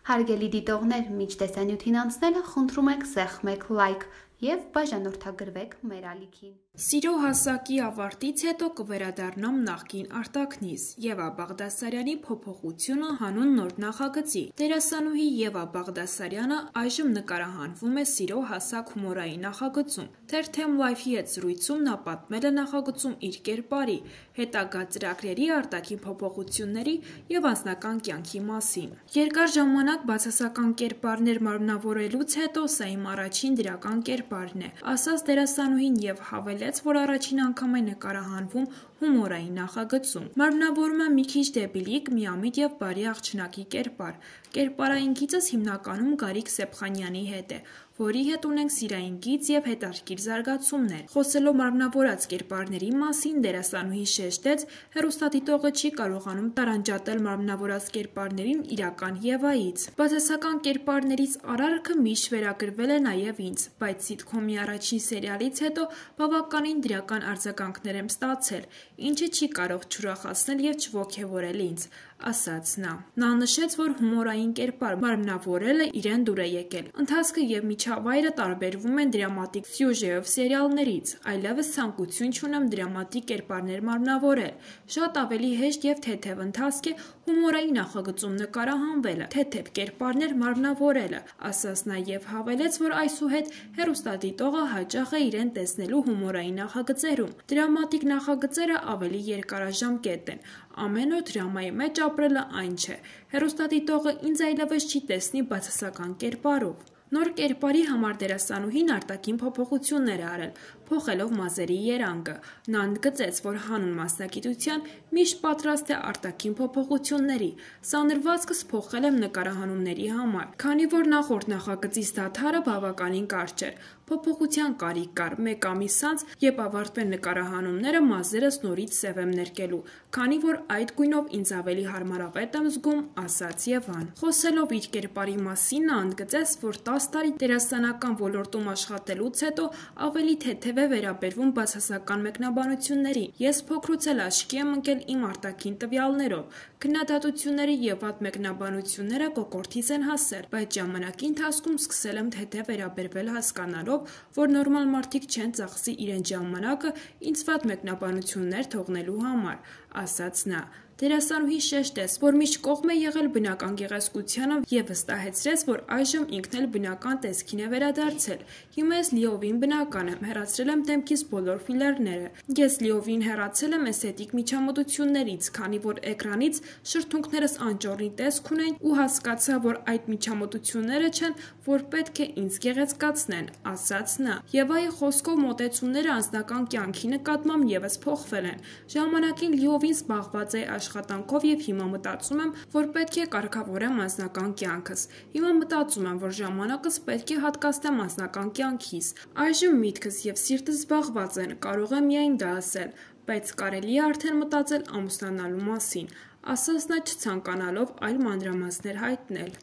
Հարգելի դիտողներ, մինչ տեսանյութին անցնելը խնդրում ենք սեղմեք լայք և բաժանորդագրվեք մեր ալիքին։ Սիրո հասակի ավարտից հետո կվերադառնամ նախկին արտաքնից Եվա Բաղդասարյանի փոփոխությունը հանուն նոր նախագծի։ Դերասանուհի Եվա Բաղդասարյանը այժմ նկարահանվում է Սիրո հասակ հումորային նախագծում։ Թերթեմ Life-ի հետ զրույցում նա պատմել է նախագծում իր կերպարի, հետագա ծրագրերի արտաքին փոփոխությունների և անձնական կյանքի մասին։ Երկար ժամանակ բացասական կերպարներ մարմնավորելուց հետո սա իմ առաջին դրական կերպարն է, ասաց դերասանուհին և հավելեց, որ առաջին անգամ է նկարահանվում հումորային նախագծում։ Մարմնավորում եմ մի քիչ դեբիլիկ, միամիտ և բարի աղջնակի կերպար։ Կերպարային գիծս հիմնականում Գարիկ Սեփխանյանի հետ է, որի հետ ունենք սիրային գիծ և հետաքրքիր զարգացումներ։ Խոսելով մարմնավորած կերպարների մասին, դերասանուհին շեշտեց, հեռուստադիտողը չի կարողանում տարանջատել մարմնավորած կերպարներին իրական Եվայից։ Բացասական կերպարներից արարքը միշտ վերագրվել է նաև ինձ, բայց սիթքոմի առաջին սերիալից հետո բավականին դրական արձագանքներ եմ ստացել, ինչը չի կարող չուրախացնել և չոգևորել ինձ, ասաց նա։ Նա նշեց, որ հումորային կերպար մարմնավորելը իրեն դուր է եկել։ Ընթացքը և միջավայրը տարբերվում են դրամատիկ սյուժեով սերիալներից, այլևս ցանկություն չունեմ դրամատիկ կերպարներ մարմնավորել։ Շատ ավելի հեշտ և թեթև ընթացք է հումորային նախագծում նկարահանվելը, թեթև կերպարներ մարմնավորելը, ասաց նա և հավելեց, որ այսուհետ հեռուստադիտողը հաճախ է իրեն տեսնելու հումորային նախագծերում։ Դրամատիկ նախագծերը ավելի երկարաժամկետ են, ամեն օր դրամայի մեջ ապրելը այն չէ։ Հեռուստադիտողը ինձ այլևս չի տեսնի բացասական կերպարով։ Նոր կերպարի համար դերասանուհին արտաքին փոփոխություններ է արել, փոխելով մազերի երանգը։ Նա ընդգծեց, որ հանուն մասնագիտության միշտ պատրաստ է արտաքին փոփոխությունների։ Սանրվածքս փոխել եմ նկարահանումների համար, քանի որ նախորդ նախագծից դադարը բավականին կարճ էր։ Փոփոխության կարիք կար։ Մեկ ամիս անց, երբ ավարտվեն նկարահանումները, մազերս նորից սև եմ ներկելու, քանի որ այդ գույնով ինձ ավելի հարմարավետ եմ զգում, ասաց Եվան։ Խոսելով իր կերպարի մասին, նա ընդգծեց, որ 10 տարի դերասանական ոլորտում աշխատելուց հետո ավելի թեթև է վերաբերվում բացասական մեկնաբանություններին։ Ես փոքրուց էլ աչքի եմ ընկել իմ արտաքին տվյալներով։ Քննադատությունները և վատ մեկնաբանությունները կոկորդից են հասել, բայց ժամանակի ընթացքում սկսել եմ թեթև վերաբերվել հասկանալով, որ նորմալ մարդիկ չեն ծախսի իրենց ժամանակը ինձ վատ մեկնաբանություններ թողնելու համար, ասաց նա։ Դերասանուհին շեշտեց, որ միշտ կողմ է եղել բնական գեղեցկությանը և վստահեցրեց, որ այժմ ինքն էլ բնական տեսքին է վերադարձել։ Հիմա ես լիովին բնական եմ, հեռացրել եմ դեմքիս բոլոր ֆիլերները։ Ես լիովին հեռացել եմ էսթետիկ միջամտություններից, քանի որ էկրանից շրթունքներս անճոռնի տեսք ունեն ու հասկացա, որ այդ միջամտությունները չեն, որ պետք է ինձ գեղեցկացնեն, ասաց նա։ Եվայի խոսքով մոտեցումները անձնական կյանքի նկատմամբ ևս փոխվել են։ Ժամանակին լիովին զբաղված էի աշխատանքով և հիմա մտածում եմ, որ պետք է կարգավորեմ անձնական կյանքս։ Հիմա մտածում եմ, որ ժամանակս պետք է հատկացնեմ անձնական կյանքիս։ Այժմ միտքս և սիրտս զբաղված են, կարող եմ միայն դա ասել, բայց կարելի է արդեն մտածել ամուսնանալու մասին, ասաց նա չցանկանալով այլ մանրամասներ հայտնել։